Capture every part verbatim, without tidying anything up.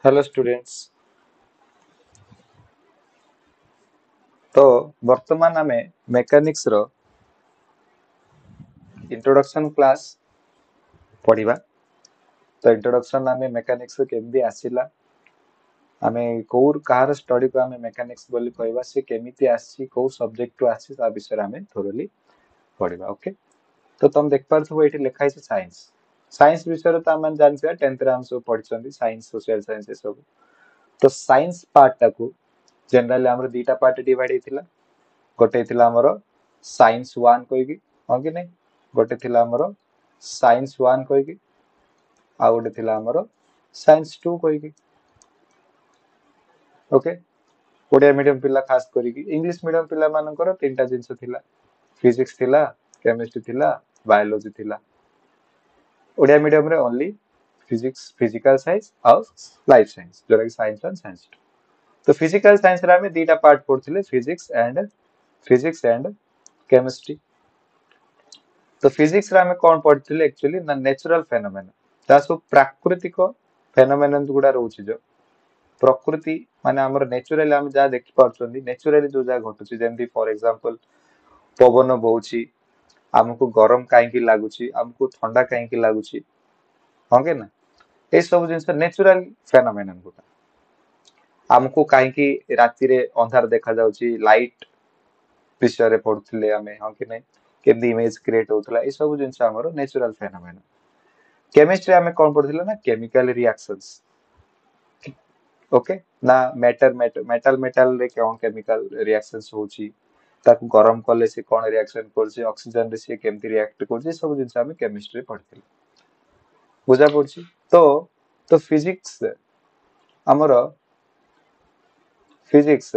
Hello students ତ ବର୍ତ୍ତମାନ ଆମେ ମେକାନିକ୍ସ ର ଇଣ୍ଟ୍ରୋଡକ୍ସନ କ୍ଲାସ ପଢିବା ତ ଇଣ୍ଟ୍ରୋଡକ୍ସନ ଆମେ ମେକାନିକ୍ସ କେମିତି ଆସିଲା ଆମେ କୋଉ କାହାର ଷ୍ଟଡିକୁ ଆମେ ମେକାନିକ୍ସ ବୋଲି କହିବା ସେ କେମିତି ଆସିଛି କୋଉ ସବଜେକ୍ଟରୁ ଆସିଛି ତା ବିଷୟରେ ଆମେ ଥୋରଲି ପଢିବା ଓକେ ତ ତମେ ଦେଖିପାରୁଥିବ ଏଇଠି ଲେଖା ହେଇଛି ସାଇନ୍ସ ସାଇନ୍ସ ବିଷୟରେ ତ ଆମେ ଜାଣିଥିବା ଟେନ୍ଥରେ ଆମେ ସବୁ ପଢିଛନ୍ତି ସାଇନ୍ସ ସୋସିଆଲ ସାଇନ୍ସ ଏସବୁ ତ ସାଇନ୍ସ ପାର୍ଟଟାକୁ ଜେନେରାଲି ଆମର ଦିଟା ପାର୍ଟ ଡିଭାଇଡ ହେଇଥିଲା ଗୋଟେ ହେଇଥିଲା ଆମର ସାଇନ୍ସ ୱାନ୍ କହିକି ହଁ କି ନାଇଁ ଗୋଟେ ଥିଲା ଆମର ସାଇନ୍ସ ୱାନ୍ କହିକି ଆଉ ଗୋଟେ ଥିଲା ଆମର ସାଇନ୍ସ ଟୁ କହିକି ଓକେ ଓଡ଼ିଆ ମିଡିୟମ ପିଲା ଖାସ କରିକି ଇଂଲିଶ ମିଡିୟମ ପିଲାମାନଙ୍କର ତିନିଟା ଜିନିଷ ଥିଲା ଫିଜିକ୍ସ ଥିଲା କେମିଷ୍ଟ୍ରି ଥିଲା ବାୟୋଲୋଜି ଥିଲା ଓଡ଼ିଆ ମିଡିୟମରେ ଓନ୍ଲି ଫିଜିକ୍ସ ଫିଜିକାଲ ସାଇନ୍ସ ଆଉ ଲାଇଫ ସାଇନ୍ସ ଯୋଉଟାକି ସାଇନ୍ସ ୱାନ୍ ସାଇନ୍ସ ଟୁ ତ ଫିଜିକାଲ ସାଇନ୍ସରେ ଆମେ ଦିଟା ପାର୍ଟ ପଢୁଥିଲେ physics and physics and chemistry ତ ଫିଜିକ୍ସରେ ଆମେ କଣ ପଢିଥିଲେ ଆକ୍ଚୁଆଲି ନା ନ୍ୟାଚୁରାଲ ଫେନୋମେନା ଯାହା ସବୁ ପ୍ରାକୃତିକ ଫେନୋମେନନ୍ ଗୁଡା ରହୁଛି ଯୋଉ ପ୍ରକୃତି ମାନେ ଆମର ନ୍ୟାଚୁରାଲି ଆମେ ଯାହା ଦେଖିପାରୁଛନ୍ତି ନ୍ୟାଚୁରାଲି ଯୋଉ ଯାହା ଘଟୁଛି ଯେମିତି ଫର ଏକ୍ସାମ୍ପଲ ପବନ ବହୁଛି ଆମକୁ ଗରମ କାହିଁକି ଲାଗୁଛି ଆମକୁ ଥଣ୍ଡା କାହିଁକି ଲାଗୁଛି ହଁ କି ନା ଏଇ ସବୁ ଜିନିଷ ନ୍ୟାଚୁରାଲ ଫେନୋମେନନ୍ ଗୁଡା ଆମକୁ କାହିଁକି ରାତିରେ ଅନ୍ଧାର ଦେଖାଯାଉଛି ଲାଇଟ ବିଷୟରେ ପଢୁଥିଲେ ଆମେ ହଁ କି ନାଇଁ କେମିତି ଇମେଜ କ୍ରିଏଟ ହଉଥିଲା ଏଇ ସବୁ ଜିନିଷ ଆମର ନ୍ୟାଚୁରାଲ ଫେନୋମେନନ୍ କେମିଷ୍ଟ୍ରି ଆମେ କଣ ପଢୁଥିଲେ ନା କେମିକାଲ ରିଆକ୍ସନ୍ସ ଓକେ ନା ମ୍ୟାଟର ମେଟାଲ ମେଟାଲ ରେ କଣ କେମିକାଲ ରିଆକ୍ସନ୍ସ ହଉଛି ତାକୁ ଗରମ କଲେ ସେ କଣ ରିଆକ୍ସନ କରୁଛି ଅକ୍ସିଜେନ ରେ ସିଏ କେମିତି ରିଆକ୍ଟ କରୁଛି ଏ ସବୁ ଜିନିଷ ଆମେ କେମିଷ୍ଟ୍ରି ପଢିଥିଲେ ବୁଝା ପଡୁଛି ତ ତ ଫିଜିକ୍ସ ଆମର ଫିଜିକ୍ସ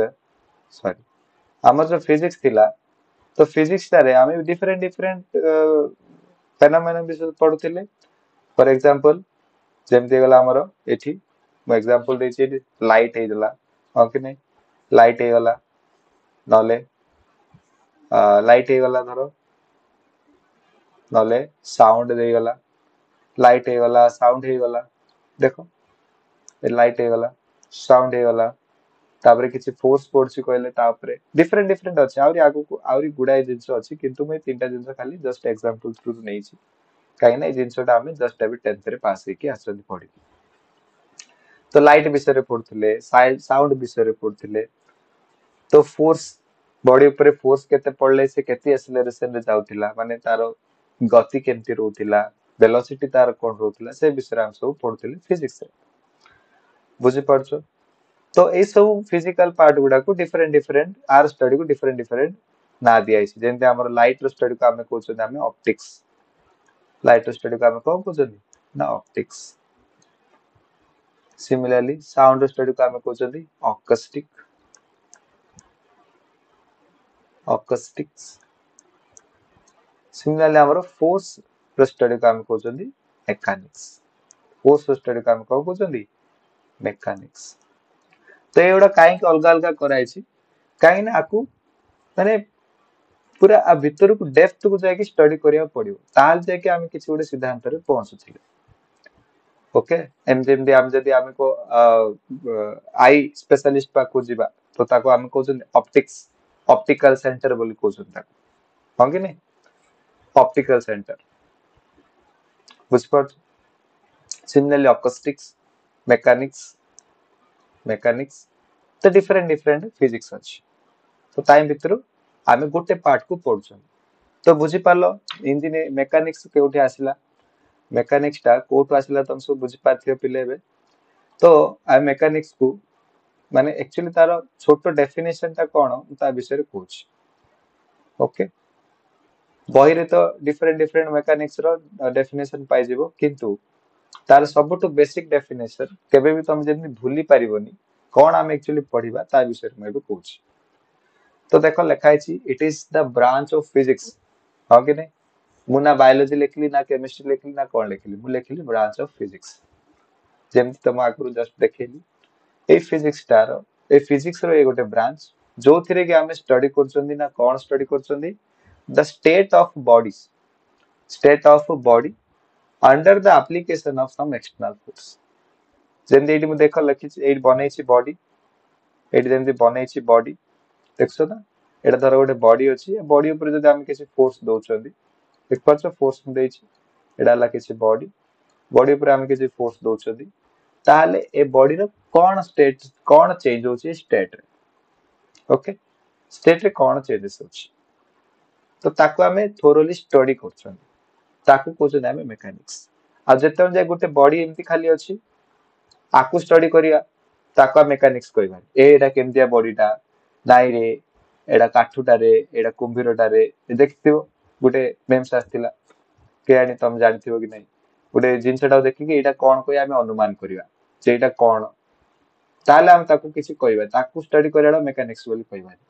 ସରି ଆମର ଯୋଉ ଫିଜିକ୍ସ ଥିଲା ତ ଫିଜିକ୍ସଟାରେ ଆମେ ଡିଫରେଣ୍ଟ ଡିଫରେଣ୍ଟ ଫେନୋମେନନ୍ ବିଷୟରେ ପଢୁଥିଲେ ଫର ଏକ୍ସାମ୍ପଲ ଯେମିତି ହେଇଗଲା ଆମର ଏଠି ମୁଁ ଏକ୍ସାମ୍ପଲ ଦେଇଛି ଏଠି ଲାଇଟ୍ ହେଇଗଲା ହଁ କି ନାଇଁ ଲାଇଟ୍ ହେଇଗଲା ନହେଲେ ଲାଇଟ୍ ହେଇଗଲା ଧର ନହେଲେ ସାଉଣ୍ଡ ଦେଇଗଲା ଲାଇଟ୍ ହେଇଗଲା ସାଉଣ୍ଡ ହେଇଗଲା ଦେଖ ଲାଇଟ୍ ହେଇଗଲା ସାଉଣ୍ଡ ହେଇଗଲା ତାପରେ କିଛି ଫୋର୍ସ ପଡୁଛି କହିଲେ ତା ଉପରେ ଡିଫରେଣ୍ଟ ଡିଫରେଣ୍ଟ ଅଛି ଆହୁରି ଆଗକୁ ଆହୁରି ଗୁଡାଏ ଜିନିଷ ଅଛି କିନ୍ତୁ ମୁଁ ଏଇ ତିନିଟା ଜିନିଷ ଖାଲି ଜଷ୍ଟ ଏକ୍ସାମ୍ପଲ ଥ୍ରୁରୁ ନେଇଛି କାହିଁକି ନା ଏଇ ଜିନିଷଟା ଆମେ ଜଷ୍ଟ ଏବେ ଟେନ୍ଥରେ ପାସ୍ ହେଇକି ଆସିଛନ୍ତି ପଢିକି ତ ଲାଇଟ୍ ବିଷୟରେ ପଢୁଥିଲେ ସାଉଣ୍ଡ ବିଷୟରେ ପଢୁଥିଲେ ତ ଫୋର୍ସ ବଡି ଉପରେ ଫୋର୍ସ କେତେ ପଡିଲେ ସେ କେତେ ଆକ୍ସିଲରେସନ ରେ ଯାଉଥିଲା ମାନେ ତାର ଗତି କେମିତି ରହୁଥିଲା ଭେଲୋସିଟି ତାର କଣ ରହୁଥିଲା ସେ ବିଷୟରେ ଆମେ ସବୁ ପଢୁଥିଲେ ଫିଜିକ୍ସରେ ବୁଝିପାରୁଛ ତ ଏଇ ସବୁ ଫିଜିକାଲ ପାର୍ଟ ଗୁଡାକୁ ଡିଫରେଣ୍ଟ ଡିଫରେଣ୍ଟ ଆର ଷ୍ଟଡିକୁ ଡିଫରେଣ୍ଟ ଡିଫରେଣ୍ଟ ନାଁ ଦିଆଯାଇଛି ଯେମିତି ଆମର ଲାଇଟ ର ଷ୍ଟଡିକୁ ଆମେ କହୁଛନ୍ତି ଆମେ ଅପ୍ଟିକ୍ସ ଲାଇଟ ର ଷ୍ଟଡିକୁ ଆମେ କଣ କହୁଛନ୍ତି ନା ଅପ୍ଟିକ୍ସ ସିମିଲାରଲି ସାଉଣ୍ଡ ର ଷ୍ଟଡିକୁ ଆମେ କହୁଛନ୍ତି ଅକଷ୍ଟିକ ଅକଷ୍ଟିକ୍ସ ସିମିଲାରଲି ଆମର ଫୋର୍ସ ର ଷ୍ଟଡିକୁ ଆମେ କହୁଛନ୍ତି ମେକାନିକ୍ସ ଫୋର୍ସ ର ଷ୍ଟଡିକୁ ଆମେ କଣ କହୁଛନ୍ତି ମେକାନିକ୍ସ ତ ଏଇଗୁଡା କାହିଁକି ଅଲଗା ଅଲଗା କରାଯାଇଛି କାହିଁକି ନା ଆକୁ ମାନେ ପୁରା ଆ ଭିତରକୁ ଡେପ୍ଥକୁ ଯାଇକି ଷ୍ଟଡି କରିବାକୁ ପଡିବ ତାହେଲେ ଯାଇକି ଆମେ କିଛି ଗୋଟେ ସିଦ୍ଧାନ୍ତରେ ପହଞ୍ଚୁଥିଲେ ଓକେ ଏମିତି ଏମିତି ଆମେ ଯଦି ଆମକୁ I specialist ପାଖକୁ ଯିବା ତ ତାକୁ ଆମେ କହୁଛନ୍ତି ଅପ୍ଟିକ୍ସ ଅପ୍ଟିକାଲ ସେଣ୍ଟର ବୋଲି କହୁଛନ୍ତି ତାକୁ ହଁ କି ନାଇଁ ଅପ୍ଟିକାଲ ସେଣ୍ଟର ବୁଝିପାରୁଛ ସିମିଲାରଲି ଅକଷ୍ଟିକ୍ସ ମେକାନିକ୍ସ ମେକାନିକ୍ସ ତ ଡିଫରେଣ୍ଟ ଡିଫରେଣ୍ଟ ଫିଜିକ୍ସ ଅଛି ତ ତା ଭିତରୁ ଆମେ ଗୋଟେ ପାର୍ଟକୁ ପଢୁଛନ୍ତି ତ ବୁଝିପାରିଲ ଇଞ୍ଜିନିୟର ମେକାନିକ୍ସ କେଉଁଠି ଆସିଲା ମେକାନିକ୍ସ ଟା କୋଉଠୁ ଆସିଲା ତମେ ସବୁ ବୁଝିପାରିଥିବ ପିଲେ ଏବେ ତ ଆମେ ମେକାନିକ୍ସ କୁ ମାନେ ଆକ୍ଚୁଆଲି ତାର ଛୋଟ ଡେଫିନେସନ ଟା କଣ ମୁଁ ତା ବିଷୟରେ କହୁଛି ଓକେ ବହିରେ ତ ଡିଫରେଣ୍ଟ ଡିଫରେଣ୍ଟ ମେକାନିକ୍ସ ର ଡେଫିନେସନ ପାଇଯିବ କିନ୍ତୁ ତାର ସବୁଠୁ ବେସିକ ଡେଫିନେସନ କେବେ ବି ତମେ ଯେମିତି ଭୁଲି ପାରିବନି କଣ ଆମେ ଆକ୍ଚୁଆଲି ପଢିବା ତା ବିଷୟରେ ମୁଁ ଏବେ କହୁଛି ତ ଦେଖ ଲେଖା ହେଇଛି It is the branch of physics ହଁ କି ନାଇଁ ମୁଁ ନା ବାୟୋଲୋଜି ଲେଖିଲି ନା କେମିଷ୍ଟ୍ରି ଲେଖିଲି ନା କଣ ଲେଖିଲି ମୁଁ ଲେଖିଲି ବ୍ରାଞ୍ଚ ଅଫ ଫିଜିକ୍ସ ଯେମିତି ତମ ଆଗରୁ ଜଷ୍ଟ ଦେଖେଇଲି ଏଇ ଫିଜିକ୍ସଟାର ଏଇ ଫିଜିକ୍ସ ର ଏଇ ଗୋଟେ ବ୍ରାଞ୍ଚ ଯୋଉଥିରେ କି ଆମେ ଷ୍ଟଡି କରୁଛନ୍ତି ନା କଣ ଷ୍ଟଡି କରୁଛନ୍ତି the state of bodies state of body under the application of some external force ଯେମିତି ଏଇଠି ମୁଁ ଦେଖ ଲେଖିଛି ଏଇଠି ବନେଇଛି ବଡି ଏଇଠି ଯେମିତି ବନେଇଛି ବଡି ଦେଖୁଛ ନା ଏଇଟା ଧର ଗୋଟେ ବଡି ଅଛି ଏ ବଡି ଉପରେ ଯଦି ଆମେ କିଛି ଫୋର୍ସ ଦଉଛନ୍ତି ଦେଖିପାରୁଛ ଫୋର୍ସ ମୁଁ ଦେଇଛି ଏଇଟା ହେଲା କିଛି ବଡି ବଡି ଉପରେ ଆମେ କିଛି ଫୋର୍ସ ଦଉଛନ୍ତି ତାହେଲେ ଏ ବଡିର କଣ ଷ୍ଟେଟ କଣ ଚେଞ୍ଜ ହଉଛି ଏ ଷ୍ଟେଟରେ ଓକେ ଷ୍ଟେଟରେ କଣ ଚେଞ୍ଜେସ୍ ଅଛି ତ ତାକୁ ଆମେ ଥୋରୋଲି ଷ୍ଟଡି କରୁଛନ୍ତି ତାକୁ କହୁଛନ୍ତି ଆମେ ମେକାନିକ୍ସ ଆଉ ଯେତେବେଳେ ଯାଏ ଗୋଟେ ବଡି ଏମିତି ଖାଲି ଅଛି ଆକୁ ଷ୍ଟଡି କରିବା ତାକୁ ଆମେ ମେକାନିକ୍ସ କହିବାନି ଏ ଏଇଟା କେମିତିଆ ବଡିଟା ନାଇଁ ରେ ଏଇଟା କାଠୁଟାରେ ଏଇଟା କୁମ୍ଭୀରଟାରେ ଦେଖିଥିବ ଗୋଟେ ମେମ୍ସ ଆସିଥିଲା କେଜାଣି ତମେ ଜାଣିଥିବ କି ନାଇଁ ଗୋଟେ ଜିନିଷଟାକୁ ଦେଖିକି ଏଇଟା କଣ କହି ଆମେ ଅନୁମାନ କରିବା ଯେ ଏଇଟା କଣ ତାହେଲେ ଆମେ ତାକୁ କିଛି କହିବା ତାକୁ ଷ୍ଟଡି କରିବାଟା ମେକାନିକ୍ସ ବୋଲି କହିବାନି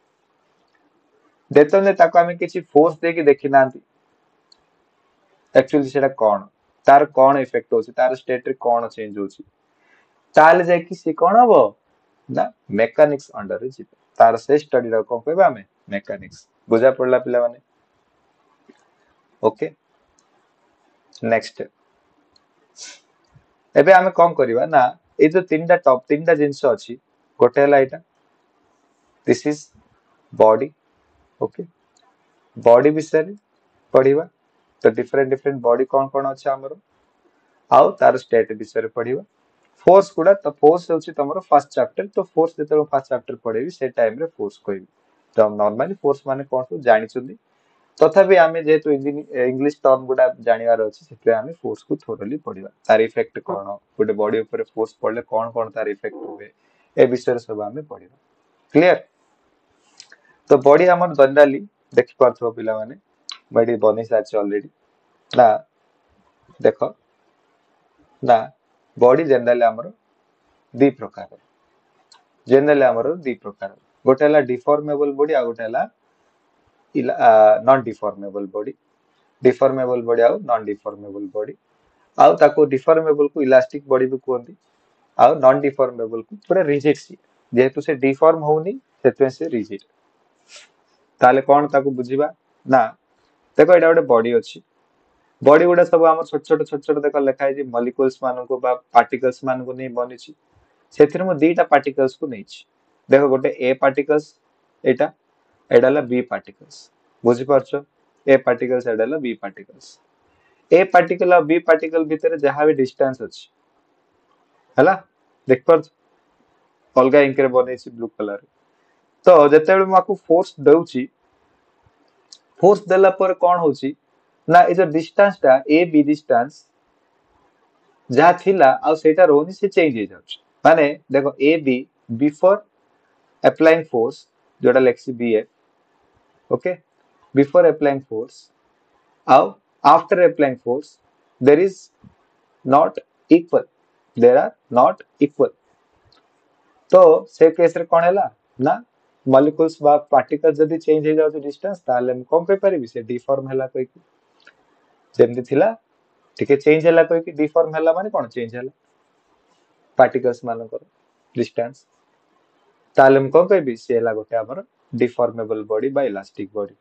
ଯେତେବେଳେ ତାକୁ ଆମେ କିଛି ଫୋର୍ସ ଦେଇକି ଦେଖି ନାହାନ୍ତି ଆକ୍ଚୁଆଲି ସେଟା କଣ ତାର କଣ ଇଫେକ୍ଟ ହଉଛି ତାର ଷ୍ଟେଟରେ କଣ ଚେଞ୍ଜ ହଉଛି ତାହେଲେ ଯାଇକି ସେ କଣ ହବ ନା ମେକାନିକ୍ସ ଅଣ୍ଡରରେ ଯିବ ତାର ସେ ଷ୍ଟଡିଟା କଣ କହିବା ଆମେ ମେକାନିକ୍ସ ବୁଝା ପଡିଲା ପିଲାମାନେ ଓକେ ନେକ୍ସଟ ଏବେ ଆମେ କଣ କରିବା ନା ଏଇ ଯୋଉ ତିନିଟା ଟପ୍ ତିନିଟା ଜିନିଷ ଅଛି ଗୋଟେ ହେଲା ଏଇଟା this is body okay body ବିଷୟରେ ପଢିବା ତ ଡିଫରେଣ୍ଟ ଡିଫରେଣ୍ଟ ବଡି କଣ କଣ ଅଛି ଆମର ଆଉ ତାର ଷ୍ଟେଟ ବିଷୟରେ ପଢିବା ଫୋର୍ସ ଗୁଡା ତ ଫୋର୍ସ ହେଉଛି ତମର ଫାର୍ଷ୍ଟ ଚାପ୍ଟର ତ ଫୋର୍ସ ଯେତେବେଳେ ଫାର୍ଷ୍ଟ ଚାପ୍ଟର ପଢେଇବି ସେ ଟାଇମରେ ଫୋର୍ସ କହିବି ତ ନର୍ମାଲି ଫୋର୍ସ ମାନେ କଣ ସବୁ ଜାଣିଛନ୍ତି ତଥାପି ଆମେ ଯେହେତୁ ଇଂଲିଶ ଟର୍ମ ଗୁଡା ଜାଣିବାର ଅଛି ସେଥିପାଇଁ ଆମେ ଫୋର୍ସ କୁ ଥୋରଲି ପଢିବା ତାର ଇଫେକ୍ଟ କଣ ଗୋଟେ ବଡି ଉପରେ ଫୋର୍ସ ପଡିଲେ କଣ କଣ ତାର ଇଫେକ୍ଟ ହୁଏ ଏ ବିଷୟରେ ସବୁ ଆମେ ପଢିବା କ୍ଲିୟର ତ ବଡି ଆମର ଜେନେରାଲି ଦେଖିପାରୁଥିବ ପିଲାମାନେ ମୁଁ ଏଠି ବନେଇ ସାରିଛି ଅଲରେଡି ନା ଦେଖ ନା ବଡି ଜେନେରାଲି ଆମର ଦି ପ୍ରକାର ଜେନେରାଲି ଆମର ଦି ପ୍ରକାର ଗୋଟେ ହେଲା ଡିଫର୍ମେବଲ ବଡି ଆଉ ଗୋଟେ ହେଲା ନନ୍ ଡିଫର୍ମେବଲ ବଡି ଡିଫର୍ମେବଲ ବଡି ଆଉ ନନ୍ ଡିଫର୍ମେବଲ ବଡି ଆଉ ତାକୁ ଡିଫର୍ମେବଲ କୁ ଇଲାଷ୍ଟିକ ବଡି ବି କୁହନ୍ତି ଆଉ ନନ୍ ଡିଫର୍ମେବଲ କୁ ପୁରା ରିଜିଡ ସିଏ ଯେହେତୁ ସେ ଡିଫର୍ମ ହଉନି ସେଥିପାଇଁ ସେ ରିଜିଡ ତାହେଲେ କଣ ତାକୁ ବୁଝିବା ନା ଦେଖ ଏଇଟା ଗୋଟେ ବଡି ଅଛି ବଡି ଗୁଡା ସବୁ ଆମର ଛୋଟ ଛୋଟ ଛୋଟ ଛୋଟ ଦେଖ ଲେଖା ହେଇଛି ମଲିକୁଲ୍ସ ମାନଙ୍କୁ ବା ପାର୍ଟିକଲ୍ସ ମାନଙ୍କୁ ନେଇ ବନିଛି ସେଥିରେ ମୁଁ ଦିଟା ପାର୍ଟିକଲ୍ସ କୁ ନେଇଛି ଦେଖ ଗୋଟେ ଏ ପାର୍ଟିକଲ୍ସ ଏଇଟା ଏଇଟା ହେଲା ବି ପାର୍ଟିକଲ୍ସ ବୁଝିପାରୁଛ ଏ ପାର୍ଟିକଲ୍ସ ଏଇଟା ହେଲା ବି ପାର୍ଟିକଲ୍ସ ଏ ପାର୍ଟିକଲ ଆଉ ବି ପାର୍ଟିକଲ ଭିତରେ ଯାହା ବି ଡିଷ୍ଟାନ୍ସ ଅଛି ହେଲା ଦେଖିପାରୁଛ ଅଲଗା ଇଙ୍କରେ ବନେଇଛି ବ୍ଲୁ କଲର ତ ଯେତେବେଳେ ମୁଁ ଆକୁ ଫୋର୍ସ ଦଉଛି ଫୋର୍ସ ଦେଲା ପରେ କଣ ହଉଛି ନା ଏ ଯୋଉ ଡିଷ୍ଟାନ୍ସ ଟା ଏ ବି ଡିଷ୍ଟାନ୍ସ ଯାହା ଥିଲା ଆଉ ସେଇଟା ରହୁନି ସେ ଚେଞ୍ଜ ହେଇଯାଉଛି ମାନେ ଦେଖ ଏ ବି ବିଫୋର ଆପ୍ଲାଇଂ ଫୋର୍ସ ଯୋଉଟା ଲେଖିଛି B F okay before applying force ଆଉ after applying force there is not equal there are not equal ତ ସେ କେସରେ କଣ ହେଲା ନା ମଲିକୁଲ୍ସ ବା ପାର୍ଟିକଲ ଯଦି ଚେଞ୍ଜ ହେଇଯାଉଛି ଡିଷ୍ଟାନ୍ସ ତାହେଲେ ମୁଁ କଣ କହିପାରିବି ସେ ଡିଫର୍ମ ହେଲା କହିକି ଯେମିତି ଥିଲା ଟିକେ ଚେଞ୍ଜ ହେଲା କହିକି ଡିଫର୍ମ ହେଲା ମାନେ କଣ ଚେଞ୍ଜ ହେଲା ପାର୍ଟିକଲ୍ସ ମାନଙ୍କର ଡିଷ୍ଟାନ୍ସ ତାହେଲେ ମୁଁ କଣ କହିବି ସେ ହେଲା ଗୋଟେ ଆମର ଡିଫର୍ମେବଲ ବଡି ବା ଇଲାଷ୍ଟିକ ବଡି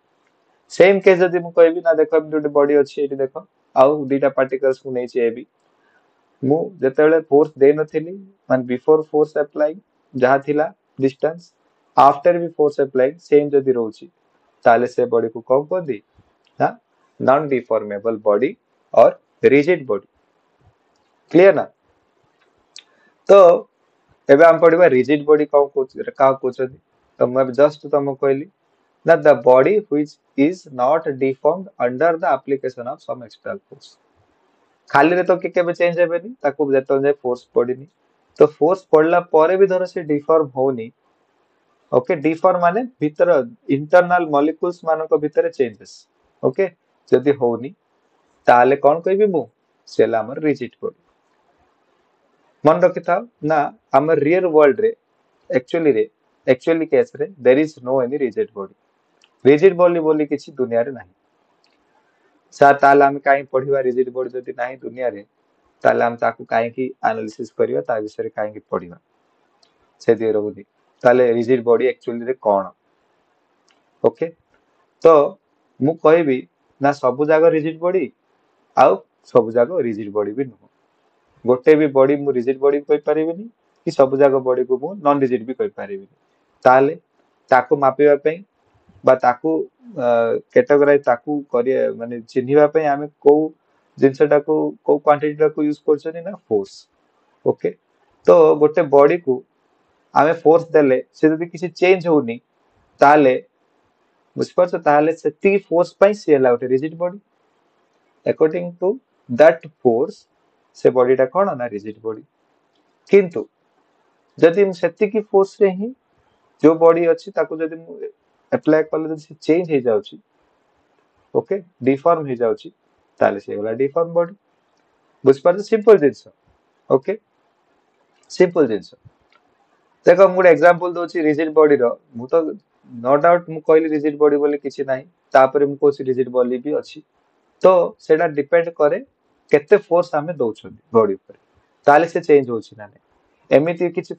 ସେମ୍ କେସ୍ ଯଦି ମୁଁ କହିବି ନା ଦେଖ ଏମିତି ଗୋଟେ ବଡି ଅଛି ଏଇଠି ଦେଖ ଆଉ ଦିଟା ପାର୍ଟିକଲ୍ସ ମୁଁ ନେଇଛି ଏ ବି ମୁଁ ଯେତେବେଳେ ଫୋର୍ସ ଦେଇନଥିଲି ମାନେ ବିଫୋର ଫୋର୍ସ ଆପ୍ଲାଇଂ ଯାହା ଥିଲା ଡିଷ୍ଟାନ୍ସ ଆଫ୍ଟର ବି ଫୋର୍ସ ଆପ୍ଲାଇଂ ସେମ୍ ଯଦି ରହୁଛି ତାହେଲେ ସେ ବଡିକୁ କଣ କୁହନ୍ତି ନା non deformable body or rigid body clear ନା ତ ଏବେ ଆମେ ପଢିବା ରିଜିଡ ବଡି କଣ କହୁଛି କାହାକୁ କହୁଛନ୍ତି ତ ମୁଁ ଏବେ ଜଷ୍ଟ ତମକୁ କହିଲି ନା the body which is not deformed under the application of some external force ଖାଲିରେ ତ କେବେ ଚେଞ୍ଜ ହେବେନି ତାକୁ ଯେତେବେଳେ ଯାଏ ଫୋର୍ସ ପଡିନି ତ ଫୋର୍ସ ପଡିଲା ପରେ ବି ଧର ସେ ଡିଫର୍ମ ହଉନି ଓକେ ଡିଫର୍ମ ମାନେ ଭିତର ଇଣ୍ଟରନାଲ ମଲିକୁଲ୍ସ ମାନଙ୍କ ଭିତରେ ଚେଞ୍ଜେସ୍ ଓକେ ଯଦି ହଉନି ତାହେଲେ କଣ କହିବି ମୁଁ ସେ ହେଲା ଆମର ରିଜିଡ ବଡି ମନେ ରଖିଥାଅ ନା ଆମ ରିଅଲ ୱାର୍ଲଡ ରେ ଆକ୍ଚୁଆଲି ରେ ଆକ୍ଚୁଆଲି କେସରେ there is no any rigid body rigid body ବୋଲି କିଛି ଦୁନିଆରେ ନାହିଁ ସାର୍ ତାହେଲେ ଆମେ କାହିଁ ପଢିବା ରିଜିଡ ବଡି ଯଦି ନାହିଁ ଦୁନିଆରେ ତାହେଲେ ଆମେ ତାକୁ କାହିଁକି ଆନାଲିସିସ୍ କରିବା ତା ବିଷୟରେ କାହିଁକି ପଢିବା ସେଥିରେ ରହୁନି ତାହେଲେ ରିଜିଡ ବଡି ଆକ୍ଚୁଆଲିରେ କଣ ଓକେ ତ ମୁଁ କହିବି ନା ସବୁ ଯାକ ରିଜିଡ ବଡି ଆଉ ସବୁ ଯାକ ରିଜିଡ ବଡି ବି ନୁହଁ ଗୋଟେ ବି ବଡି ମୁଁ ରିଜିଡ୍ ବଡି କହିପାରିବିନି କି ସବୁ ଯାକ ବଡିକୁ ମୁଁ ନନ୍ ରିଜିଡ୍ ବି କହିପାରିବିନି। ତାହେଲେ ତାକୁ ମାପିବା ପାଇଁ ବା ତାକୁ କ୍ୟାଟେଗୋରାଇଜ ତାକୁ କରିବା ମାନେ ଚିହ୍ନିବା ପାଇଁ ଆମେ କୋଉ ଜିନିଷଟାକୁ କୋଉ କ୍ୱାଣ୍ଟିଟିଟାକୁ ୟୁଜ କରୁଛନ୍ତି ନା ଫୋର୍ସ। ଓକେ, ତ ଗୋଟେ ବଡିକୁ ଆମେ ଫୋର୍ସ ଦେଲେ ସେ ଯଦି କିଛି ଚେଞ୍ଜ ହଉନି ତାହେଲେ ବୁଝିପାରୁଛ, ତାହେଲେ ସେତିକି ଫୋର୍ସ ପାଇଁ ସିଏ ହେଲା ଗୋଟେ rigid body. According to that force ସେ ବଡିଟା କଣ ନା ରିଜିଡ୍ ବଡି। କିନ୍ତୁ ଯଦି ମୁଁ ସେତିକି ଫୋର୍ସରେ ହିଁ ଯୋଉ ବଡି ଅଛି ତାକୁ ଯଦି ମୁଁ ଆପ୍ଲାଏ କଲେ ଯଦି ସେ ଚେଞ୍ଜ ହେଇଯାଉଛି, ଓକେ, ଡିଫର୍ମ ହେଇଯାଉଛି, ତାହେଲେ ସେ ହେଇଗଲା ଡିଫର୍ମ ବଡି। ବୁଝିପାରୁଛ? ସିମ୍ପଲ ଜିନିଷ। ଓକେ, ସିମ୍ପଲ ଜିନିଷ। ଦେଖ ମୁଁ ଗୋଟେ ଏକ୍ସାମ୍ପଲ ଦଉଛି ରିଜିଡ୍ ବଡିର। ମୁଁ ତ ନୋ ଡାଉଟ ମୁଁ କହିଲି ରିଜିଡ୍ ବଡି ବୋଲି କିଛି ନାହିଁ, ତାପରେ ମୁଁ କହୁଛି ରିଜିଡ୍ ବଡି ବି ଅଛି। ତ ସେଇଟା ଡିପେଣ୍ଡ କରେ କେତେ ଫୋର୍ସ ଆମେ ଦଉଛନ୍ତି ବଡି ଉପରେ, ତାହେଲେ ସେ ଚେଞ୍ଜ ହଉଛି ନା ନାହିଁ। ଏମିତି କିଛି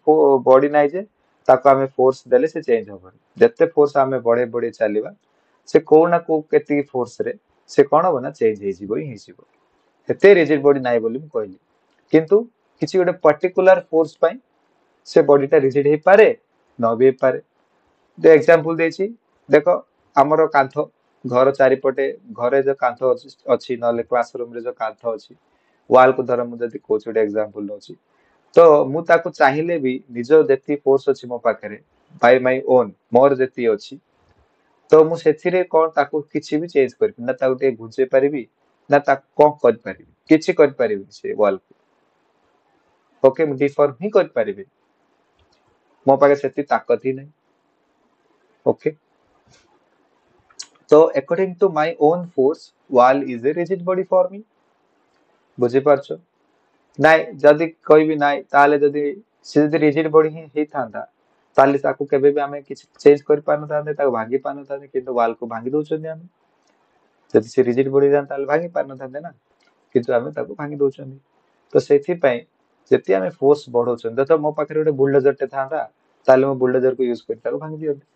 ବଡି ନାହିଁ ଯେ ତାକୁ ଆମେ ଫୋର୍ସ ଦେଲେ ସେ ଚେଞ୍ଜ ହବନି। ଯେତେ ଫୋର୍ସ ଆମେ ବଢେଇ ବଢେଇ ଚାଲିବା ସେ କୋଉ ନା କୋଉ କେତିକି ଫୋର୍ସରେ ସେ କଣ ହବ ନା ଚେଞ୍ଜ ହେଇଯିବ ହିଁ ହେଇଯିବ। ଏତେ ରିଜିଡ୍ ବଡି ନାହିଁ ବୋଲି ମୁଁ କହିଲି, କିନ୍ତୁ କିଛି ଗୋଟେ ପର୍ଟିକୁଲାର ଫୋର୍ସ ପାଇଁ ସେ ବଡିଟା ରିଜିଡ୍ ହେଇପାରେ ନ ବି ହେଇପାରେ। ଯୋଉ ଏକ୍ସାମ୍ପଲ ଦେଇଛି ଦେଖ, ଆମର କାନ୍ଥ ଘର ଚାରିପଟେ ଘରେ ଯୋଉ କାନ୍ଥ ଅଛି, ନହେଲେ କ୍ଲାସ ରୁମରେ ଯୋଉ କାନ୍ଥ ଅଛି, ୱାଲକୁ ଧର ମୁଁ ଯଦି କହୁଛି ଗୋଟେ ଏକ୍ସାମ୍ପଲ ଦଉଛି, ତ ମୁଁ ତାକୁ ଚାହିଁଲେ ବି ନିଜ ଯେତିକି ଫୋର୍ସ ଅଛି ମୋ ପାଖରେ ବାଇ ମାଇ ଓନ୍ ମୋର ଯେତିକି ଅଛି, ତ ମୁଁ ସେଥିରେ କଣ ତାକୁ କିଛି ବି ଚେଞ୍ଜ କରିବି ନା, ତାକୁ ଟିକେ ଘୁଞ୍ଚେଇ ପାରିବି ନା ତାକୁ କଣ କରିପାରିବି, କିଛି କରିପାରିବିନି ସେ ୱାଲକୁ। ଓକେ, ମୁଁ ଡିଫର୍ମ ହିଁ କରିପାରିବି, ମୋ ପାଖରେ ସେତିକି ତାକତ ହିଁ ନାହିଁ। ଓକେ, ତ according to my own force wall is a rigid body for me. ବୁଝିପାରୁଛ? ନାଇଁ ଯଦି କହିବି ନାଇଁ, ତାହେଲେ ଯଦି ସେ ଯଦି ରିଜିଡ୍ ବଡି ହିଁ ହେଇଥାନ୍ତା ତାହେଲେ ତାକୁ କେବେ ବି ଆମେ କିଛି ଚେଞ୍ଜ କରିପାରିନଥାନ୍ତେ, ତାକୁ ଭାଙ୍ଗି ପାରିନଥାନ୍ତେ। କିନ୍ତୁ ୱାଲକୁ ଭାଙ୍ଗି ଦଉଛନ୍ତି ଆମେ। ଯଦି ସେ ରିଜିଡ୍ ବଡି ହେଇଥାନ୍ତା ତାହେଲେ ଭାଙ୍ଗି ପାରିନଥାନ୍ତେ ନା, କିନ୍ତୁ ଆମେ ତାକୁ ଭାଙ୍ଗି ଦଉଛନ୍ତି। ତ ସେଥିପାଇଁ ଯେତେ ଆମେ ଫୋର୍ସ ବଢଉଛନ୍ତି, ତ ମୋ ପାଖରେ ଗୋଟେ ବୁଲଡୋଜରଟେ ଥାନ୍ତା ତାହେଲେ ମୁଁ ବୁଲଡୋଜରକୁ ୟୁଜ କରି ତାକୁ ଭାଙ୍ଗି ଦିଅନ୍ତି।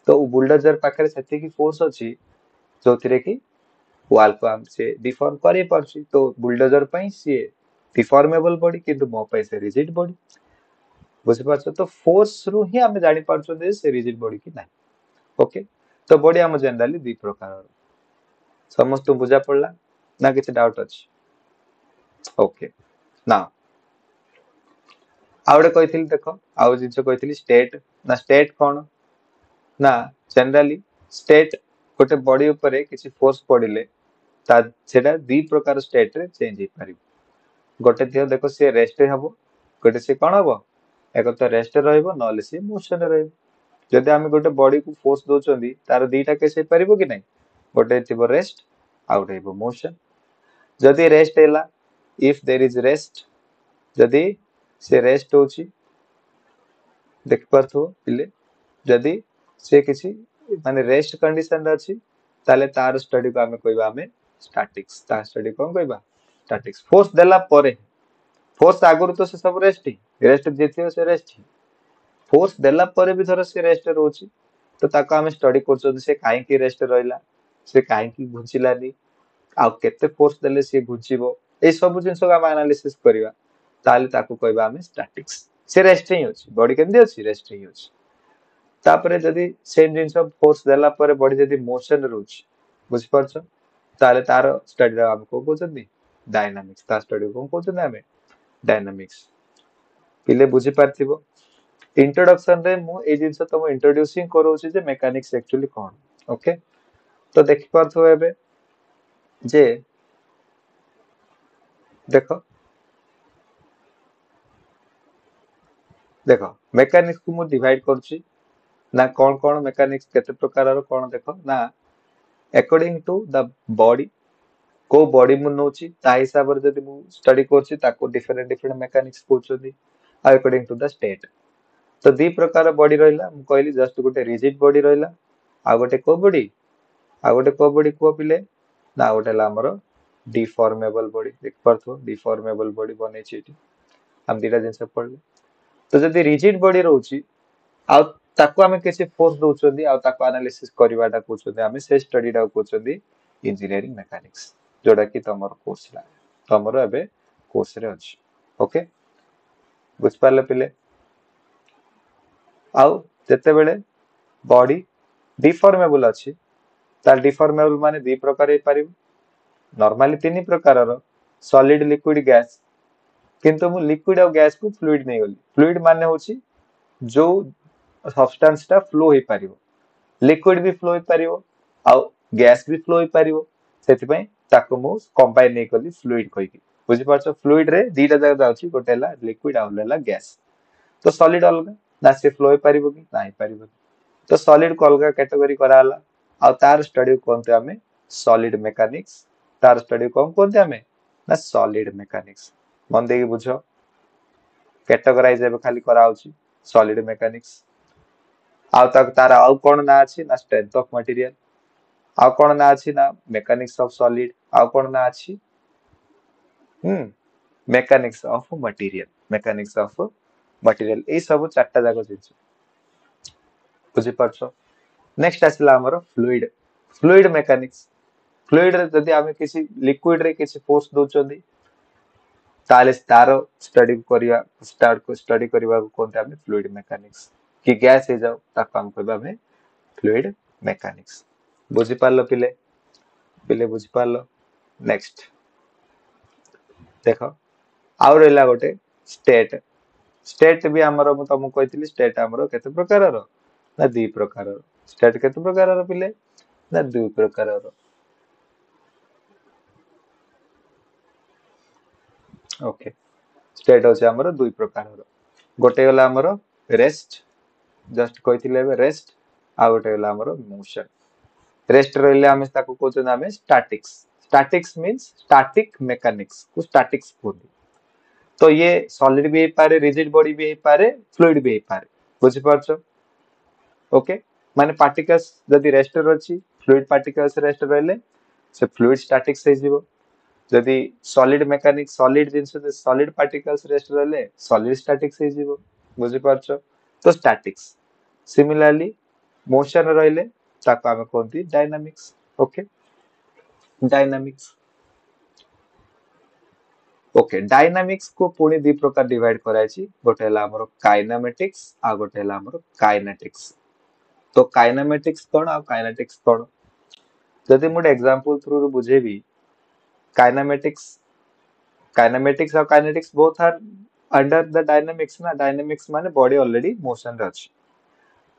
ତ ବୁଲଡୋଜର ପାଖରେ ସେତିକି ଫୋର୍ସ ଅଛି ଯୋଉଥିରେ କି ୱାଲକୁ ଆମେ ସେ ଡିଫର୍ମ କରେଇ ପାରୁଛି। ତ ବୁଲଡୋଜର ପାଇଁ ସିଏ ଡିଫର୍ମେବଲ ବଡି, କିନ୍ତୁ ମୋ ପାଇଁ ସେ ରିଜିଡ୍ ବଡି। ବୁଝିପାରୁଛ? ତ ଫୋର୍ସ ରୁ ହିଁ ଆମେ ଜାଣିପାରୁଛନ୍ତି ଯେ ସେ ରିଜିଡ୍ ବଡି କି ନାହିଁ। ଓକେ, ତ ବଡି ଆମ ଜେନେରାଲି ଦି ପ୍ରକାରର। ସମସ୍ତଙ୍କୁ ବୁଝା ପଡିଲା ନା କିଛି ଡାଉଟ ଅଛି? ଓକେ, ନା ଆଉ ଗୋଟେ କହିଥିଲି ଦେଖ, ଆଉ ଜିନିଷ କହିଥିଲି ଷ୍ଟେଟ। ନା ଷ୍ଟେଟ କଣ ନା ଜେନେରାଲି ଷ୍ଟେଟ ଗୋଟେ ବଡି ଉପରେ କିଛି ଫୋର୍ସ ପଡିଲେ ତା ସେଟା ଦି ପ୍ରକାର ଷ୍ଟେଟରେ ଚେଞ୍ଜ ହେଇପାରିବ। ଗୋଟେ ଥିବ ଦେଖ ସିଏ ରେଷ୍ଟ ହବ, ଗୋଟେ ସିଏ କଣ ହବ, ଏକ ତ ରେଷ୍ଟ ରହିବ ନହେଲେ ସିଏ ମୋସନରେ ରହିବ। ଯଦି ଆମେ ଗୋଟେ ବଡିକୁ ଫୋର୍ସ ଦଉଛନ୍ତି ତାର ଦିଟା କେସ୍ ହେଇପାରିବ କି ନାହିଁ, ଗୋଟେ ଥିବ ରେଷ୍ଟ ଆଉ ଗୋଟେ ହେବ ମୋସନ। ଯଦି ରେଷ୍ଟ ହେଲା, if there is rest, ଯଦି ସେ ରେଷ୍ଟ ହଉଛି ଦେଖିପାରୁଥିବ ପିଲେ, ଯଦି ସେ କିଛି ମାନେ ରେଷ୍ଟ କଣ୍ଡିସନରେ ଅଛି ତାହେଲେ ତାର ଷ୍ଟଡିକୁ ଆମେ କହିବା ଆମେ ଷ୍ଟାଟିକ୍ସ। ତା ଷ୍ଟଡି କଣ କହିବା? ଷ୍ଟାଟିକ୍ସ। ଫୋର୍ସ ଦେଲା ପରେ, ଫୋର୍ସ ଆଗରୁ ତ ସେ ସବୁ ରେଷ୍ଟ ହିଁ, ରେଷ୍ଟ ଯିଏ ଥିବ ସେ ରେଷ୍ଟ ହିଁ। ଫୋର୍ସ ଦେଲା ପରେ ବି ଧର ସେ ରେଷ୍ଟ ରହୁଛି ତ ତାକୁ ଆମେ ଷ୍ଟଡି କରୁଛନ୍ତି ସେ କାହିଁକି ରେଷ୍ଟ ରହିଲା, ସେ କାହିଁକି ଘୁଞ୍ଚିଲାନି, ଆଉ କେତେ ଫୋର୍ସ ଦେଲେ ସିଏ ଘୁଞ୍ଚିବ, ଏଇ ସବୁ ଜିନିଷକୁ ଆମେ ଆନାଲିସିସ୍ କରିବା, ତାହେଲେ ତାକୁ କହିବା ଆମେ ଷ୍ଟାଟିକ୍ସ। ସେ ରେଷ୍ଟ ହିଁ ଅଛି, ବଡି କେମିତି ଅଛି? ରେଷ୍ଟ ହିଁ ଅଛି। ତାପରେ ଯଦି ସେମ୍ ଜିନିଷ ଫୋର୍ସ ଦେଲା ପରେ ବଡି ଯଦି ମୋସନ ରହୁଛି, ବୁଝିପାରୁଛ, ତାହେଲେ ତାର ଷ୍ଟଡିର ଆମେ କଣ କହୁଛନ୍ତି? ଡାଇନାମିକ୍ସ। ତା ଷ୍ଟଡି କଣ କହୁଛନ୍ତି ଆମେ? ଡାଇନାମିକ୍ସ। ପିଲେ ବୁଝିପାରିଥିବ ଇଣ୍ଟ୍ରୋଡକ୍ସନ ରେ ମୁଁ ଏଇ ଜିନିଷ ତମ ଇଣ୍ଟ୍ରୋଡ୍ୟୁସିଂ କରଉଛି ଯେ ମେକାନିକ୍ସ ଆକ୍ଚୁଆଲି କଣ। ଓକେ, ତ ଦେଖିପାରୁଥିବ ଏବେ ଯେ ଦେଖ ଦେଖ ମେକାନିକ୍ସ କୁ ମୁଁ ଡିଭାଇଡ କରୁଛି ନା କଣ କଣ ମେକାନିକ୍ସ କେତେ ପ୍ରକାରର କଣ ଦେଖ ନା ଆକର୍ଡିଂ ଟୁ the body, କୋଉ ବଡି ମୁଁ ନଉଛି ତା ହିସାବରେ ଯଦି ମୁଁ ଷ୍ଟଡି କରୁଛି ତାକୁ ଡିଫରେଣ୍ଟ ଡିଫରେଣ୍ଟ ମେକାନିକ୍ସ କହୁଛନ୍ତି, ଆଉ ଆକର୍ଡିଂ ଟୁ the state. ତ ଦି ପ୍ରକାର ବଡି ରହିଲା, ମୁଁ କହିଲି ଜଷ୍ଟ ଗୋଟେ ରିଜିଡ୍ ବଡି ରହିଲା, ଆଉ ଗୋଟେ କୋଉ ବଡି, ଆଉ ଗୋଟେ କୋଉ ବଡି କୁହ ପିଲେ ନା ଆଉ ଗୋଟେ ହେଲା ଆମର ଡିଫର୍ମେବଲ ବଡି। ଦେଖିପାରୁଥିବ ଡିଫର୍ମେବଲ ବଡି ବନେଇଛି ଏଠି, ଆମେ ଦିଟା ଜିନିଷ ପଢିଲେ। ତ ଯଦି ରିଜିଡ୍ ବଡି ରହୁଛି ଆଉ ତାକୁ ଆମେ କିଛି ଫୋର୍ସ ଦଉଛନ୍ତି ଆଉ ତାକୁ ଆନାଲିସିସ୍ କରିବାଟା କହୁଛନ୍ତି ଆମେ, ସେ ଷ୍ଟଡିଟାକୁ କହୁଛନ୍ତି ଇଞ୍ଜିନିୟରିଂ ମେକାନିକ୍ସ, ଯୋଉଟା କି ତମର କୋର୍ସ ତମର ଏବେ କୋର୍ସରେ ଅଛି। ଓକେ, ବୁଝିପାରିଲେ ପିଲେ? ଆଉ ଯେତେବେଳେ ବଡି ଡିଫର୍ମେବଲ ଅଛି, ତାହେଲେ ଡିଫର୍ମେବଲ ମାନେ ଦି ପ୍ରକାର ହେଇପାରିବ। ନର୍ମାଲି ତିନି ପ୍ରକାରର, ସଲିଡ, ଲିକ୍ୱିଡ, ଗ୍ୟାସ। କିନ୍ତୁ ମୁଁ ଲିକ୍ୱିଡ ଆଉ ଗ୍ୟାସକୁ ଫ୍ଲୁଇଡ ନେଇଗଲି। ଫ୍ଲୁଇଡ ମାନେ ହଉଛି ଯୋଉ ସବଷ୍ଟାନ୍ସ ଟା ଫ୍ଲୋ ହେଇପାରିବ। ଲିକ୍ୱିଡ ବି ଫ୍ଲୋ ହେଇପାରିବ ଆଉ ଗ୍ୟାସ ବି ଫ୍ଲୋ ହେଇପାରିବ, ସେଥିପାଇଁ ତାକୁ ମୁଁ କମ୍ବାଇନ ନେଇଗଲି ଫ୍ଲୁଇଡ କହିକି। ବୁଝିପାରୁଛ? ଫ୍ଲୁଇଡ ରେ ଦିଟା ଜାଗା ଯାଉଛି, ଗୋଟେ ହେଲା ଲିକ୍ୱିଡ ଆଉ ହେଲା ଗ୍ୟାସ। ତ ସଲିଡ ଅଲଗା ନା, ସେ ଫ୍ଲୋ ହେଇପାରିବ କି ନା ହେଇପାରିବନି। ତ ସଲିଡ କୁ ଅଲଗା କ୍ୟାଟେଗୋରୀ କରାହେଲା, ଆଉ ତାର ଷ୍ଟଡି କୁହନ୍ତି ଆମେ ସଲିଡ ମେକାନିକ୍ସ। ତାର ଷ୍ଟଡି କଣ କୁହନ୍ତି ଆମେ ନା ସଲିଡ ମେକାନିକ୍ସ। ମନ ଦେଇକି ବୁଝ, କ୍ୟାଟେଗୋରାଇଜ ଏବେ ଖାଲି କରାହଉଛି ସଲିଡ ମେକାନିକ୍ସ। ଆଉ ତାକୁ ତାର ଆଉ କଣ ନାଁ ଅଛି ନା ଷ୍ଟ୍ରେନ୍ଥ ଅଫ ମଟେରିଆଲ। ଆଉ କଣ ନାଁ ଅଛି ନା ମେକାନିକ୍ସ ଅଫ ସଲିଡ। ଆଉ କଣ ନାଁ ଅଛି? ହୁଁ, mechanics of material. Mechanics of material. ଏଇ ସବୁ ଚାରିଟା ଯାକ ଜିନିଷ ବୁଝିପାରୁଛ? ନେକ୍ସଟ ଆସିଲା ଆମର ଫ୍ଲୁଇଡ, ଫ୍ଲୁଇଡ ମେକାନିକ୍ସ। ଫ୍ଲୁଇଡ ରେ ଯଦି ଆମେ କିଛି ଲିକ୍ୱିଡ ରେ କିଛି ଫୋର୍ସ ଦଉଛନ୍ତି, ତାହେଲେ ତାର ଷ୍ଟଡି କରିବା, ଷ୍ଟାର୍ଟ ଷ୍ଟଡି କରିବାକୁ କୁହନ୍ତି ଆମେ ଫ୍ଲୁଇଡ ମେକାନିକ୍ସ। କି ଗ୍ୟାସ ହେଇଯାଉ, ତାକୁ ଆମେ କହିବା ଆମେ ଫ୍ଲୁଇଡ ମେକାନିକ୍ସ। ବୁଝିପାରିଲ ପିଲେ? ପିଲେ ବୁଝିପାରିଲ? ନେକ୍ସଟ ଦେଖ, ଆଉ ରହିଲା ଗୋଟେ ଷ୍ଟେଟ। ଷ୍ଟେଟ ବି ଆମର ମୁଁ ତମକୁ କହିଥିଲି, ଷ୍ଟେଟ ଆମର କେତେ ପ୍ରକାରର ନା ଦି ପ୍ରକାରର। ଷ୍ଟେଟ କେତେ ପ୍ରକାରର ପିଲେ ନା ଦୁଇ ପ୍ରକାରର। ଓକେ, ଷ୍ଟେଟ ହଉଛି ଆମର ଦୁଇ ପ୍ରକାରର। ଗୋଟେ ଗଲା ଆମର ରେଷ୍ଟ, ଜଷ୍ଟ କହିଥିଲେ ଏବେ ରେଷ୍ଟ, ଆଉ ଗୋଟେ ଗଲା ଆମର ମୋସନ। ରେଷ୍ଟ ରହିଲେ ଆମେ ତାକୁ କହୁଛନ୍ତି ଆମେ ଷ୍ଟାଟିକ୍ସ। ଷ୍ଟାଟିକ୍ସ ମିନ୍ସ ଷ୍ଟାଟିକ ମେକାନିକ୍ସ କୁ ଷ୍ଟାଟିକ୍ସ କୁହନ୍ତି। ତ ଇଏ ସଲିଡ ବି ହେଇପାରେ, ରିଜିଡ ବଡି ବି ହେଇପାରେ, ଫ୍ଲୁଇଡ ବି ହେଇପାରେ। ବୁଝିପାରୁଛ? ଓକେ, ମାନେ ପାର୍ଟିକଲ୍ସ ଯଦି ରେଷ୍ଟରେ ଅଛି, ଫ୍ଲୁଇଡ ପାର୍ଟିକଲ୍ସ ରେଷ୍ଟ ରହିଲେ ସେ ଫ୍ଲୁଇଡ ଷ୍ଟାଟିକ୍ସ ହେଇଯିବ। ଯଦି ସଲିଡ ମେକାନିକ୍ସ, ସଲିଡ ଜିନିଷ, ସଲିଡ ପାର୍ଟିକଲ୍ସ ରେଷ୍ଟ ରହିଲେ ସଲିଡ ଷ୍ଟାଟିକ୍ସ ହେଇଯିବ। ବୁଝିପାରୁଛ? ତ ଷ୍ଟାଟିକ୍ସ। ସିମିଲାରଲି ମୋସନ ରହିଲେ ତାକୁ ଆମେ କୁହନ୍ତି dynamics. Okay, dynamics. Okay, dynamics କୁ ପୁଣି ଦି ପ୍ରକାର ଡିଭାଇଡ କରାଯାଇଛି। ଗୋଟେ ହେଲା ଆମର କାଇନାମେଟିକ୍ସ ଆଉ ଗୋଟେ ହେଲା ଆମର କାଇନେଟିକ୍ସ। ତ କାଇନାମେଟିକ୍ସ କଣ ଆଉ କାଇନେଟିକ୍ସ କଣ? ଯଦି ମୁଁ ଗୋଟେ ଏକ୍ସାମ୍ପଲ ଥ୍ରୁରୁ ବୁଝେଇବି, କାଇନାମେଟିକ୍ସ, କାଇନାମେଟିକ୍ସ ଆଉ kinetics both are under the dynamics ନା। ଡାଇନାମିକ୍ସ ମାନେ ବଡି ଅଲରେଡି ମୋସନ ରେ ଅଛି,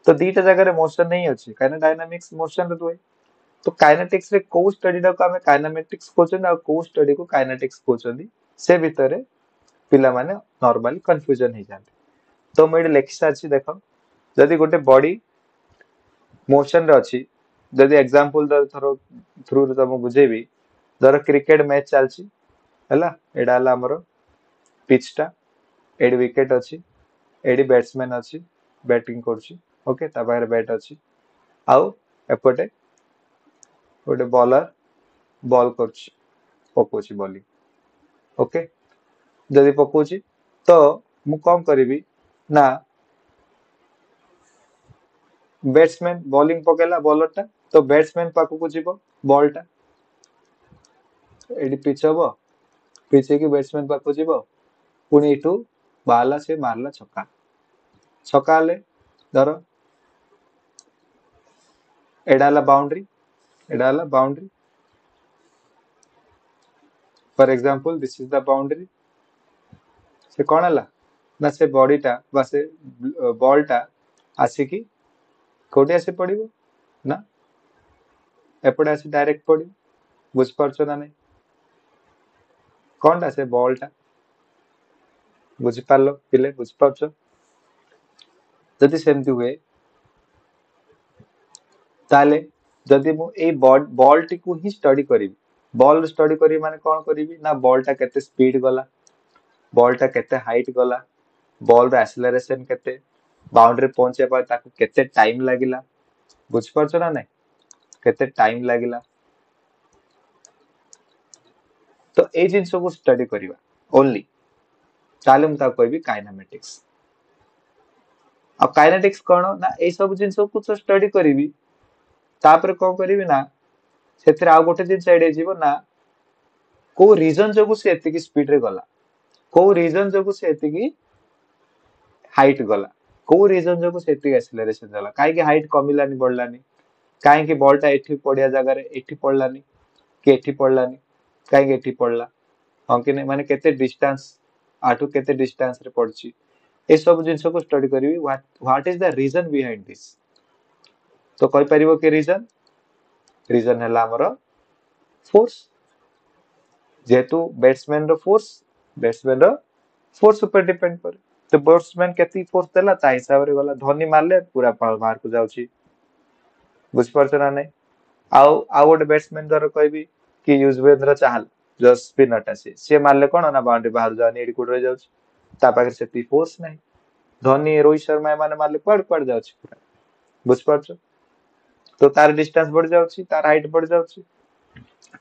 ତ ଦିଟା ଜାଗାରେ ମୋସନ ହିଁ ଅଛି, କାହିଁକିନା ଡାଇନାମିକ୍ସ ମୋସନ ରେ ରୁହେ। ତ କାଇନେଟିକ୍ସ ରେ କୋଉ ଷ୍ଟଡିଟାକୁ ଆମେ କାଇନାମେଟିକ୍ସ କହୁଛନ୍ତି ଆଉ କୋଉ ଷ୍ଟଡିକୁ କାଇନେଟିକ୍ସ କହୁଛନ୍ତି, ସେ ଭିତରେ ପିଲାମାନେ ନର୍ମାଲି କନଫ୍ୟୁଜନ ହେଇଯାନ୍ତି। ତ ମୁଁ ଏଠି ଲେଖି ସାରିଛି, ଦେଖ। ଯଦି ଗୋଟେ ବଡି ମୋସନ ରେ ଅଛି, ଯଦି ଏକ୍ସାମ୍ପଲ ଧର ଥ୍ରୁରେ ତମକୁ ବୁଝେଇବି, ଧର କ୍ରିକେଟ ମ୍ୟାଚ ଚାଲିଛି, ହେଲା, ଏଇଟା ହେଲା ଆମର ପିଚ୍ ଟା, ଏଠି ୱିକେଟ ଅଛି, ଏଠି ବ୍ୟାଟ୍ସମ୍ୟାନ ଅଛି, ବ୍ୟାଟିଂ କରୁଛି, ଓକେ, ତା ପାଖରେ ବ୍ୟାଟ୍ ଅଛି, ଆଉ ଏପଟେ ଗୋଟେ ବଲର ବଲ୍ କରୁଛି, ପକଉଛି ବଲିଂ। ଓକେ, ଯଦି ପକଉଛି ତ ମୁଁ କଣ କରିବି ନା, ବ୍ୟାଟ୍ସମ୍ୟାନ ବୋଲିଂ ପକେଇଲା ବଲରଟା, ତ ବ୍ୟାଟ୍ସମ୍ୟାନ ପାଖକୁ ଯିବ ବଲଟା, ଏଠି ପିଚ୍ ହବ, ପିଚ୍ ହେଇକି ବ୍ୟାଟ୍ସମ୍ୟାନ ପାଖକୁ ଯିବ, ପୁଣି ଏଠୁ ବାହାରିଲା, ସେ ମାରିଲା ଛକା। ଛକା ହେଲେ ଧର ଏଇଟା ହେଲା ବାଉଣ୍ଡ୍ରି, ଏଇଟା ହେଲା boundary. For example this is the boundary. ସେ କଣ ହେଲା ନା, ସେ ବଡିଟା ବା ସେ ବଲଟା ଆସିକି କୋଉଠି ଆସି ପଡିବ ନା ଏପଟେ ଆସି ଡାଇରେକ୍ଟ ପଡିବ। ବୁଝିପାରୁଛ ନା ନାଇଁ? କଣଟା ସେ ବଲଟା? ବୁଝିପାରିଲ ପିଲେ? ବୁଝିପାରୁଛ? ଯଦି ସେମିତି ହୁଏ ତାହେଲେ ଯଦି ମୁଁ ଏଇ ବଲଟିକୁ ହିଁ ଷ୍ଟଡି କରିବି, ବଲ୍ ଷ୍ଟଡି କରିବି ମାନେ କଣ କରିବି ନା, ବଲଟା କେତେ ସ୍ପିଡ ଗଲା, ବଲଟା କେତେ ହାଇଟ୍ ଗଲା, ବଲର ଆକ୍ସିଲରେସନ କେତେ, ବାଉଣ୍ଡ୍ରି ପହଞ୍ଚିବା ପାଇଁ ତାକୁ କେତେ ଟାଇମ ଲାଗିଲା, ବୁଝିପାରୁଛ ନା ନାଇଁ, କେତେ ଟାଇମ ଲାଗିଲା। ତ ଏଇ ଜିନିଷକୁ ଷ୍ଟଡି କରିବା ଓନ୍ଲି, ତାହେଲେ ମୁଁ ତାକୁ କହିବି କାଇନାମେଟିକ୍ସ। ଆଉ କାଇନେଟିକ୍ସ କଣ ନା, ଏଇ ସବୁ ଜିନିଷକୁ ତ ଷ୍ଟଡି କରିବି, ତାପରେ କଣ କରିବି ନା ସେଥିରେ ଆଉ ଗୋଟେ ଜିନିଷ ଏଡ୍ ହେଇଯିବ ନା, କୋଉ ରିଜନ ଯୋଗୁ ସେ ଏତିକି ସ୍ପିଡ ରେ ଗଲା, କୋଉ ରିଜନ ଯୋଗୁ ସେ ଏତିକି ହାଇଟ୍ ଗଲା, କୋଉ ରିଜନ ଯୋଗୁ ସେ ଏତିକି ଆକ୍ସିଲରେସନ ଗଲା, କାହିଁକି ହାଇଟ୍ କମିଲାନି ବଢିଲାନି, କାହିଁକି ବଲଟା ଏଠି ପଡିଆ ଜାଗାରେ ଏଠି ପଡିଲାନି କି ଏଠି ପଡିଲାନି, କାହିଁକି ଏଠି ପଡିଲା, ହଁ କି ନାଇଁ, ମାନେ କେତେ ଡିଷ୍ଟାନ୍ସ ଆଠୁ କେତେ ଡିଷ୍ଟାନ୍ସ ରେ ପଡୁଛି, ଏସବୁ ଜିନିଷକୁ ଷ୍ଟଡି କରିବି। What is the reason behind this? ତ କହିପାରିବ କି ରିଜନ? ରିଜନ ହେଲା ଆମର ଫୋର୍ସ। ଯେହେତୁ ବ୍ୟାଟ୍ସମ୍ୟାନ ର ଫୋର୍ସ, ବ୍ୟାଟ୍ସମ୍ୟାନ ର ଫୋର୍ସ ଉପରେ ଡିପେଣ୍ଡ କରେ। ତ ବ୍ୟାଟ୍ସମ୍ୟାନ କେତିକି ଫୋର୍ସ ଦେଲା ତା ହିସାବରେ ଗଲା। ଧୋନି ମାରିଲେ ପୁରା ବାହାରକୁ ଯାଉଛି, ବୁଝିପାରୁଛ ନା ନାଇଁ? ଆଉ ଆଉ ଗୋଟେ ବ୍ୟାଟ୍ସମ୍ୟାନ ଧର କହିବି କି ୟୁଜବେନ୍ଦ୍ର ଚାହଲ, ଯୋଉ ସ୍ପିନରଟା, ସିଏ ସିଏ ମାରିଲେ କଣ ନା ବାଉଣ୍ଡ୍ରି ବାହାରୁ ଯାଉନି, ଏଇଠି କୋଉଠି ରହିଯାଉଛି, ତା ପାଖରେ ସେତିକି ଫୋର୍ସ ନାହିଁ। ଧୋନି, ରୋହିତ ଶର୍ମା ଏମାନେ ମାରିଲେ କୁଆଡେ କୁଆଡେ ଯାଉଛି ପୁରା, ବୁଝିପାରୁଛ? ତ ତାର ଡିଷ୍ଟାନ୍ସ ବଢି ଯାଉଛି, ତାର ହାଇଟ୍ ବଢି ଯାଉଛି।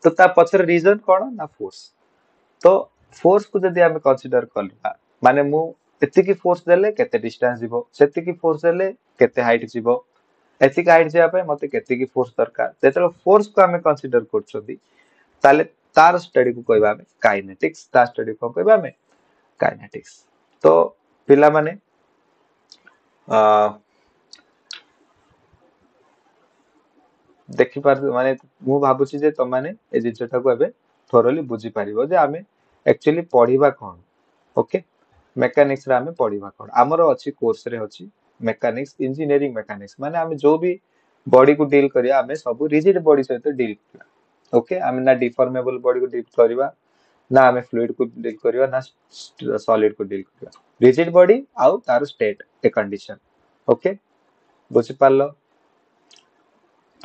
ତ ତା ପଛରେ ରିଜନ କଣ ନା ଫୋର୍ସ। ତ ଫୋର୍ସ କୁ ଯଦି ଆମେ କନସିଡର କରିବା, ମାନେ ମୁଁ ଏତିକି ଫୋର୍ସ ଦେଲେ କେତେ ଡିଷ୍ଟାନ୍ସ ଯିବ, ସେତିକି ଫୋର୍ସ ଦେଲେ କେତେ ହାଇଟ୍ ଯିବ, ଏତିକି ହାଇଟ୍ ଯିବା ପାଇଁ ମତେ କେତିକି ଫୋର୍ସ ଦରକାର, ଯେତେବେଳେ ଫୋର୍ସ କୁ ଆମେ କନସିଡର କରୁଛନ୍ତି ତାହେଲେ ତାର ଷ୍ଟଡିକୁ କହିବା ଆମେ କାଇନେଟିକ୍ସ। ତା ଷ୍ଟଡି କଣ କହିବା ଆମେ? କାଇନେଟିକ୍ସ। ତ ପିଲାମାନେ ଅ ଦେଖିପାରୁ, ମାନେ ମୁଁ ଭାବୁଛି ଯେ ତମମାନେ ଏ ଜିନିଷଟାକୁ ଏବେ ଥୋରଲି ବୁଝିପାରିବ ଯେ ଆମେ ଆକ୍ଚୁଆଲି ପଢିବା କଣ। ଓକେ, ମେକାନିକ୍ସ ରେ ଆମେ ପଢିବା କଣ? ଆମର ଅଛି କୋର୍ସରେ ଅଛି ମେକାନିକ୍ସ, ଇଞ୍ଜିନିୟରିଂ ମେକାନିକ୍ସ, ମାନେ ଆମେ ଯୋଉ ବି ବଡିକୁ ଡିଲ୍ କରିବା ଆମେ ସବୁ ରିଜିଡ ବଡି ସହିତ ଡିଲ୍ କରିବା। ଓକେ, ଆମେ ନା ଡିଫର୍ମେବଲ ବଡିକୁ ଡିଲ୍ କରିବା, ନା ଆମେ ଫ୍ଲୁଇଡ କୁ ଡିଲ୍ କରିବା, ନା ସଲିଡ କୁ ଡିଲ୍ କରିବା। ରିଜିଡ ବଡି ଆଉ ତାର ଷ୍ଟେଟ ଏ କଣ୍ଡିସନ। ଓକେ, ବୁଝିପାରିଲ?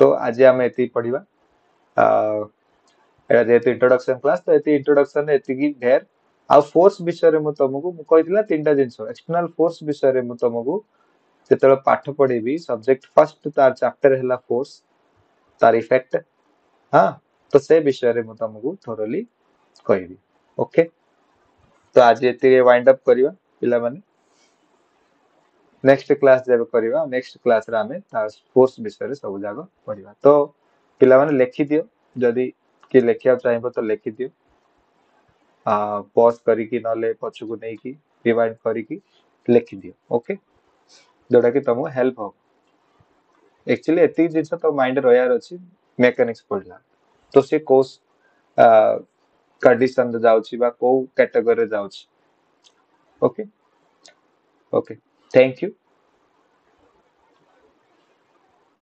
ତ ଆଜି ଆମେ ଏତିକି ପଢିବା। ଏଇଟା ଯେହେତୁ ଇଣ୍ଟ୍ରୋଡକ୍ସନ କ୍ଲାସ, ତ ଏତିକି ଇଣ୍ଟ୍ରୋଡକ୍ସନ ଏତିକି ଢେର। ଆଉ ଫୋର୍ସ ବିଷୟରେ ମୁଁ ତମକୁ ମୁଁ କହିଥିଲା ତିନିଟା ଜିନିଷ। ଏକ୍ସଟର୍ନାଲ ଫୋର୍ସ ବିଷୟରେ ମୁଁ ତମକୁ ଯେତେବେଳେ ପାଠ ପଢେଇବି, ସବଜେକ୍ଟ ଫାର୍ଷ୍ଟ ତାର ଚାପ୍ଟର ହେଲା ଫୋର୍ସ, ତାର ଇଫେକ୍ଟ, ହଁ, ତ ସେ ବିଷୟରେ ମୁଁ ତମକୁ ଥୋରଲି କହିବି। ଓକେ, ତ ଆଜି ଏତିକି ୱାଇଣ୍ଡ ଅପ୍ କରିବା ପିଲାମାନେ। ନେକ୍ସଟ କ୍ଲାସ ଯେବେ କରିବା, ନେକ୍ସଟ କ୍ଲାସରେ ଆମେ ତା ଫୋର୍ସ ବିଷୟରେ ସବୁ ଯାକ ପଢିବା। ତ ପିଲାମାନେ ଲେଖିଦିଅ, ଯଦି କିଏ ଲେଖିବାକୁ ଚାହିଁବ ତ ଲେଖିଦିଅ, ପଜ୍ କରିକି ନହେଲେ ପଛକୁ ନେଇକି ରିୱାଇଣ୍ଡ କରିକି ଲେଖିଦିଅ। ଓକେ, ଯୋଉଟା କି ତମକୁ ହେଲ୍ପ ହବ। ଆକ୍ଚୁଆଲି ଏତିକି ଜିନିଷ ତମ ମାଇଣ୍ଡରେ ରହିବାର ଅଛି ମେକାନିକ୍ସ ପଢିଲା ତ ସେ କୋଉ କଣ୍ଡିସନରେ ଯାଉଛି ବା କୋଉ କ୍ୟାଟେଗୋରୀରେ ଯାଉଛି। Okay, okay, thank you.